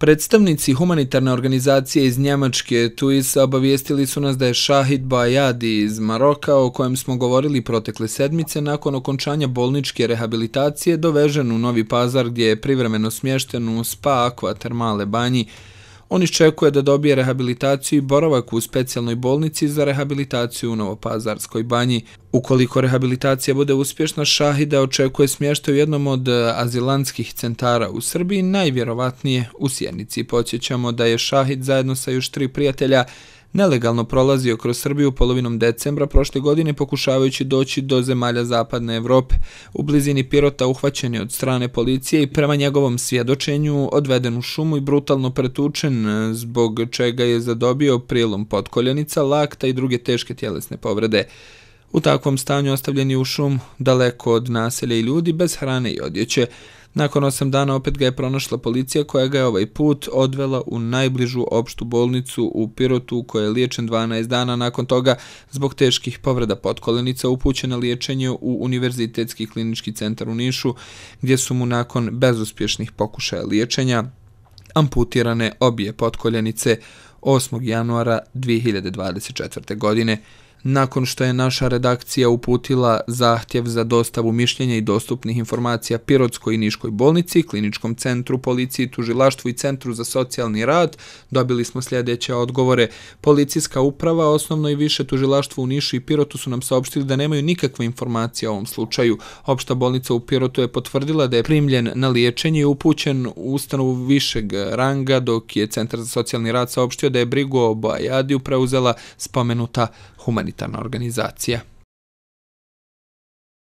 Predstavnici humanitarne organizacije iz Njemačke TUIS obavijestili su nas da je Šahid Bouajadi iz Maroka, o kojem smo govorili protekle sedmice, nakon okončanja bolničke rehabilitacije dovežen u Novi Pazar gdje je privremeno smješten u Spa Aqua termale banji. On iščekuje da dobije rehabilitaciju i boravak u specijalnoj bolnici za rehabilitaciju u Novopazarskoj banji. Ukoliko rehabilitacija bude uspješna, Šahida očekuje smještaj u jednom od azilantskih centara u Srbiji, najvjerovatnije u Sjenici. Podsjećamo da je Šahid zajedno sa još 3 prijatelja nelegalno prolazio kroz Srbiju polovinom decembra prošle godine pokušavajući doći do zemalja Zapadne Evrope. U blizini Pirota uhvaćen je od strane policije i prema njegovom svjedočenju odveden u šumu i brutalno pretučen, zbog čega je zadobio prijelom potkoljenica, lakta i druge teške tjelesne povrede. U takvom stanju ostavljen je u šum, daleko od naselja i ljudi, bez hrane i odjeće. Nakon 8 dana opet ga je pronašla policija koja ga je ovaj put odvela u najbližu opštu bolnicu u Pirotu u kojoj je liječen 12 dana. Nakon toga, zbog teških povreda potkoljenica, upućen na liječenje u Univerzitetski klinički centar u Nišu, gdje su mu nakon bezuspješnih pokušaja liječenja amputirane obje potkoljenice 8. januara 2024. godine. Nakon što je naša redakcija uputila zahtjev za dostavu mišljenja i dostupnih informacija Pirotskoj i Niškoj bolnici, Kliničkom centru, policiji, tužilaštvu i Centru za socijalni rad, dobili smo sljedeće odgovore. Policijska uprava, osnovno i više tužilaštvo u Nišu i Pirotu su nam saopštili da nemaju nikakve informacije o ovom slučaju. Opšta bolnica u Pirotu je potvrdila da je primljen na liječenje i upućen u ustanovu višeg ranga, dok je Centar za socijalni rad saopštio da je brigu o Bouajadiju preuzela spomenuta humanitarna organizacija.